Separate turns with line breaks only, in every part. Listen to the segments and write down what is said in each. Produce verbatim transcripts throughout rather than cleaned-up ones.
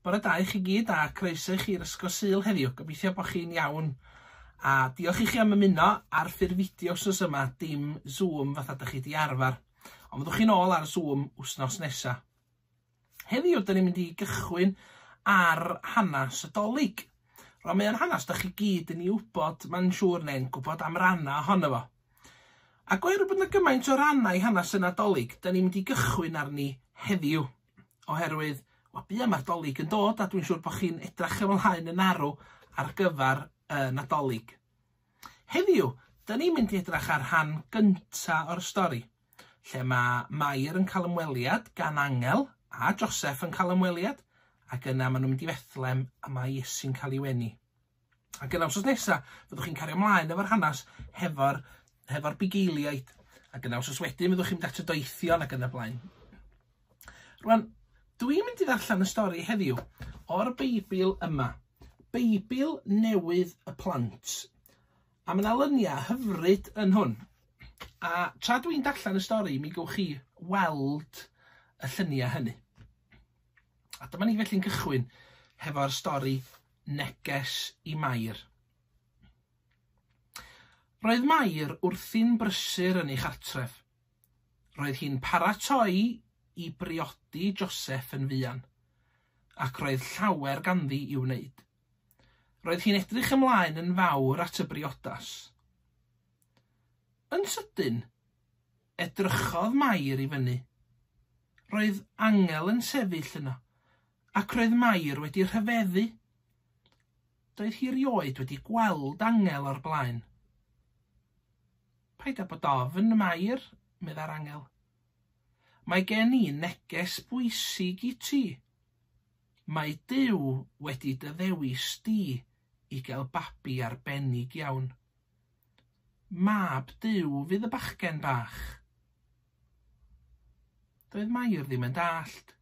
Bore da i chi gyd a croeso i chi i'r Ysgol Sul heddiw. Gobeithio bod chi'n iawn. A diolch i chi am ymuno ar ffurf fideo wsos yma, dim Zoom fatha dych chi di arfer. Ond fyddwch chi'n ôl ar Zoom wsnos nesa. Heddiw, dyn ni'n mynd i gychwyn ar hanes y Dolig. Rwan, mae o'n hanes dych chi gyd yn ei wybod, mae'n siŵr, neu'n gwybod am rannau ohono fo. Ac oherwydd bod yna gymaint o rannau i hanes y Nadolig, dyn ni'n mynd i gychwyn arni heddiw. Oherwydd, wel, buan mae'r Dolig yn dod, a dwi'n siŵr bod chi'n edrych ymlaen yn arw ar gyfer y Nadolig. Heddiw, dyn ni'n mynd i edrych ar rhan gynta o'r stori, lle mae Mair yn cael ymweliad gan angel, a Joseph yn cael ymweliad, ac yna maen nhw'n mynd i Fethlem a mae Iesu'n cael ei wenu. Ac yna wsos nesa, fyddwch chi'n cario ymlaen efo'r hanes hefo'r hefo'r bugeiliaid. Ac yna wsos wedyn fyddwch chi'n mynd at y doethion ac yn y blaen. Rwan, dwi'n mynd i ddarllen y stori heddiw o'r Beibl yma. Beibl Newydd y Plant. A mae yna luniau hyfryd yn hwn. A tra dwi'n darllen y stori, mi gewch chi weld y lluniau hynny. A dyma ni felly'n cychwyn hefo'r stori Neges i Mair. Roedd Mair wrthi'n brysur yn ei chartref. Roedd hi'n paratoi i briodi Joseph yn fuan, ac roedd llawer ganddi i'w wneud. Roedd hi'n edrych ymlaen yn fawr at y briodas. Yn sydyn, edrychodd Mair i fyny. Roedd angel yn sefyll yno, ac roedd Mair wedi rhyfeddu. Doedd hi erioed wedi gweld angel o'r blaen. "Paid â bod ofn, Mair," meddai'r angel. "Mae gen i neges bwysig i ti. Mae Duw wedi dy ddewis di i gael babi arbennig iawn. Mab Duw fydd y bachgen bach." Doedd Mair ddim yn dallt.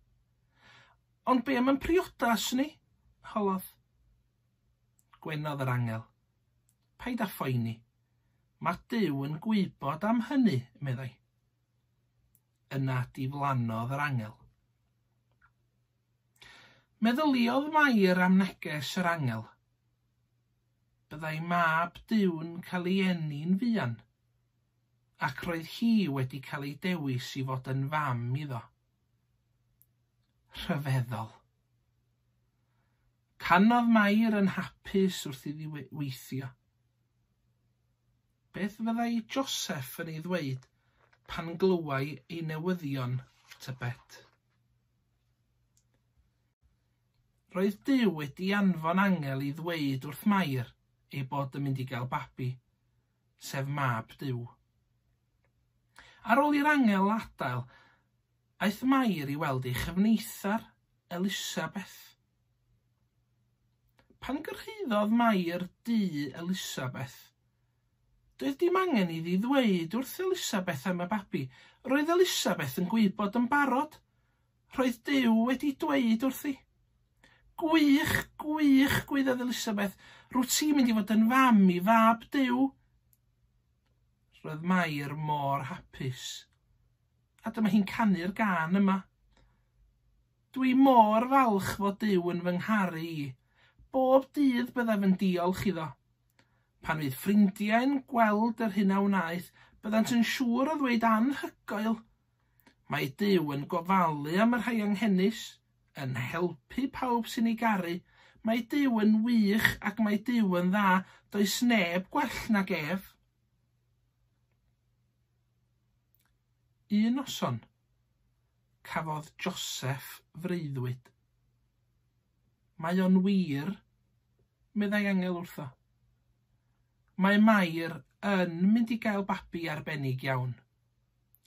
"Ond be am yn priodas ni?" holodd. Gwenodd yr angel. "Paid â phoeni. Mae Duw yn gwybod am hynny," meddai. Yna diflannodd yr angel. Meddyliodd Mair am neges yr angel. Byddai mab Duw'n cael ei eni'n fuan, ac roedd hi wedi cael ei dewis i fod yn fam iddo. Rhyfeddol. Canodd Mair yn hapus wrth iddi weithio. Beth fyddai Joseph yn ei ddweud pan glywai ei newyddion, tybed? Roedd Duw wedi anfon angel i ddweud wrth Mair ei bod yn mynd i gael babi, sef mab Duw. Ar ôl i'r angel adael, aeth Mair i weld ei chyfneithar, Elisabeth. Pan gyrhaeddodd Mair dŷ Elisabeth, doedd dim angen iddi ddweud wrth Elisabeth am y babi. Roedd Elisabeth yn gwybod yn barod. Roedd Duw wedi dweud wrthi. "Gwych, gwych," gwaeddodd Elisabeth. "Rwyt ti'n mynd i fod yn fam i fab Duw." Roedd Mair mor hapus. A dyma hi'n canu'r gân yma. "Dwi mor falch fod Duw yn fy ngharu i. Bob dydd byddaf yn diolch iddo. Pan fydd ffrindiau'n gweld yr hyn a wnaeth, byddant yn siŵr o ddweud anhygoel. Mae Duw yn gofalu am y rhai anghenus, yn helpu pawb sy'n ei garu. Mae Duw yn wych ac mae Duw yn dda. Does neb gwell nag ef." Un noson, cafodd Joseph freuddwyd. "Mae o'n wir," meddai angel wrtho. "Mae Mair yn mynd i gael babi arbennig iawn,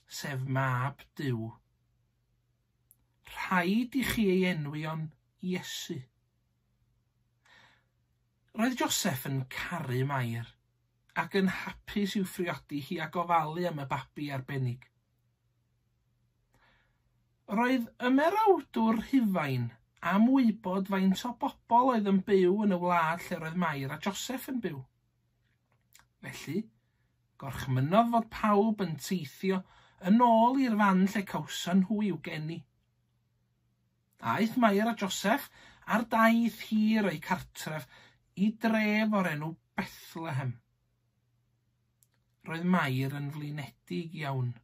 sef mab Duw. Rhaid i chi ei enwi o'n Iesu." Roedd Joseph yn caru Mair ac yn hapus i'w phriodi hi a gofalu am y babi arbennig. Roedd ymerawdwr Rhufain am wybod faint o bobl oedd yn byw yn y wlad lle roedd Mair a Joseph yn byw. Felly, gorchmynnodd fod pawb yn teithio yn ôl i'r fan lle cawson nhw i'w geni. Aeth Mair a Joseph ar daith hir o'i cartref i dref o'r enw Bethlehem. Roedd Mair yn flinedig iawn.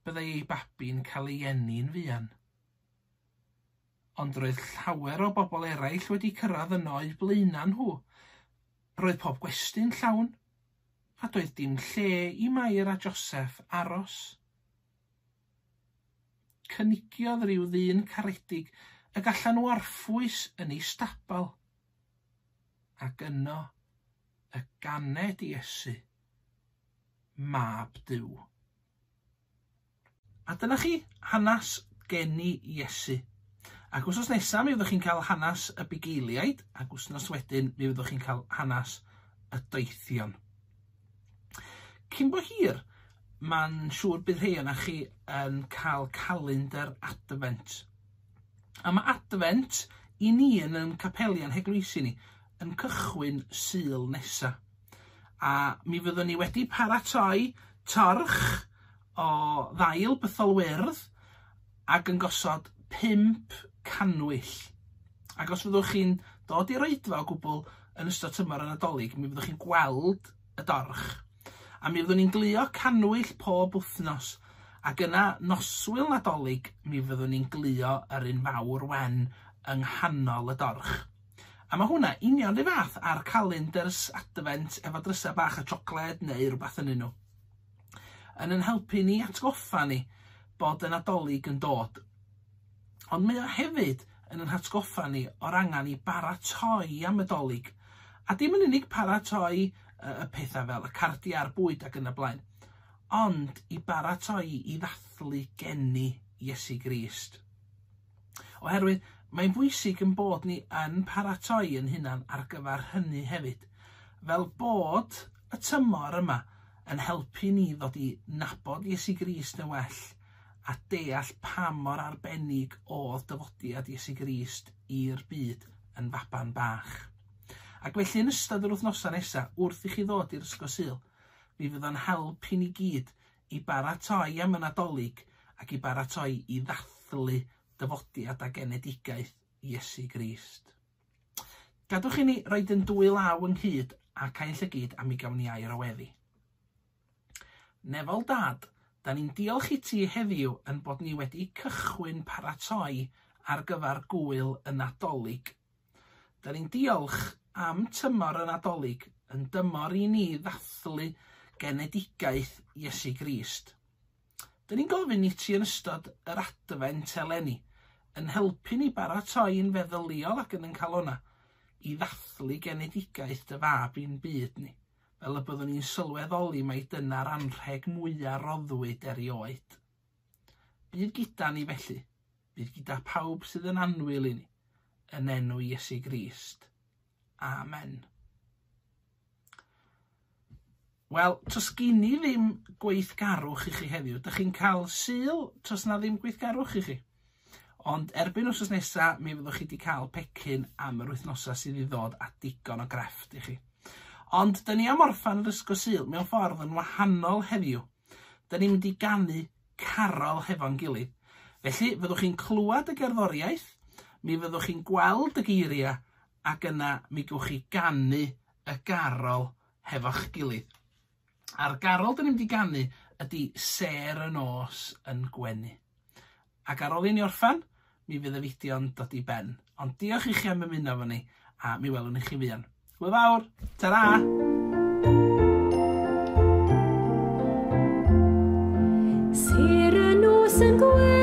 Byddai ei babi'n cael ei eni'n fuan. Ond roedd llawer o bobl eraill wedi cyrraedd yno o'u blaenau nhw. Roedd pob gwesty'n llawn, a doedd dim lle i Mair a Joseph aros. Cynigiodd rhyw ddyn caredig y gallan nhw orffwys yn ei stabal. Ac yno y ganed Iesu, mab Duw. A dyna chi hanes geni Iesu. Ac wythnos nesaf mi fyddwch chi'n cael hanes y bugeiliaid, ac wythnos wedyn mi fyddwch chi'n cael hanes y doethion. Cyn bo hir, mae'n siŵr bydd rhai ohonoch chi yn cael calendar Advent. A mae Advent i ni yn ein capeli a'n heglwysi ni yn cychwyn Sul nesa. A mi fyddwn ni wedi paratoi torch o ddail bythol wyrdd ac yn gosod pump cannwyll. Ac os fyddwch chi'n dod i'r oedfa o gwbl yn ystod tymor y Nadolig, mi fyddwch chi'n gweld y dorch. A mi fyddwn ni'n glio cannwyll pob wythnos. Ac yna noswyl Nadolig, mi fyddwn ni'n glio yr un fawr wen yng nghanol y dorch. A mae hwnna union 'run fath â'r calendars Advent efo drysau bach o siocled neu rhywbeth yn nhw. Yn yn helpu ni atgoffa ni bod y Nadolig yn dod. Ond mae o hefyd yn yn hatgoffa ni o'r angen i baratoi am y Dolig. A dim yn unig paratoi y pethau fel y cardiau a'r bwyd ac yn y blaen, ond i baratoi i ddathlu geni Iesu Grist. Oherwydd mae'n bwysig yn bod ni yn paratoi yn hunan ar gyfer hynny hefyd, fel bod y tymor yma yn helpu ni ddod i nabod Iesu Grist yn well a deall pa mor arbennig oedd dyfodiad Iesu Grist i'r byd yn faban bach. Ac felly yn ystod yr wythnosau nesaf, wrth i chi ddod i'r Ysgol Sul, mi fydd o'n help i ni gyd i baratoi am y Nadolig ac i baratoi i ddathlu dyfodiad a genedigaeth Iesu Grist. Gadwch i ni roid yn dwy law ynghyd a cau'n llygid a mi gawn ni air o weddi. Nefol Dad, da ni'n diolch i ti heddiw yn bod ni wedi cychwyn paratoi ar gyfer gŵyl y Nadolig. Da ni'n diolch am tymor y Nadolig yn dymor i ni ddathlu genedigaeth Iesu Grist. Da ni'n gofyn i ti yn ystod yr Adfent eleni yn helpu ni baratoi'n feddyliol ac yn ein calona i ddathlu genedigaeth dy fab i'n byd ni, fel y byddwn ni'n sylweddoli mai dyna'r anrheg mwyaf roddwyd erioed. Bydd gyda ni felly, bydd gyda pawb sydd yn annwyl i ni, yn enw Iesu Grist. Amen. Wel, tos gyn i ddim gweithgarwch i chi heddiw. Dych chi'n cael Sul, tos na ddim gweithgarwch i chi. Ond erbyn wythnos nesaf, mi fyddwch chi wedi cael pecyn am yr wythnosau sydd i ddod a digon o grefft i chi. Ond dyn ni am orffan yr Ysgol Sul mewn ffordd yn wahanol heddiw. Dyn ni'n mynd i ganu carol hefo'n gilydd. Felly, fyddwch chi'n clywed y gerddoriaeth, mi fyddwch chi'n gweld y geiriau, ac yna mi gewch chi ganu y garol hefo'ch gilydd. A'r garol dyn ni'n mynd i ganu ydy Sêr y Nos yn Gwenu. Ac ar ôl i ni orffan, mi fydd y fideo'n dod i ben. Ond diolch i chi am ymuno efo ni, a mi welwn i chi fuan. Hwyl fawr! Ta-ra!
Sêr y nos yn gwenu.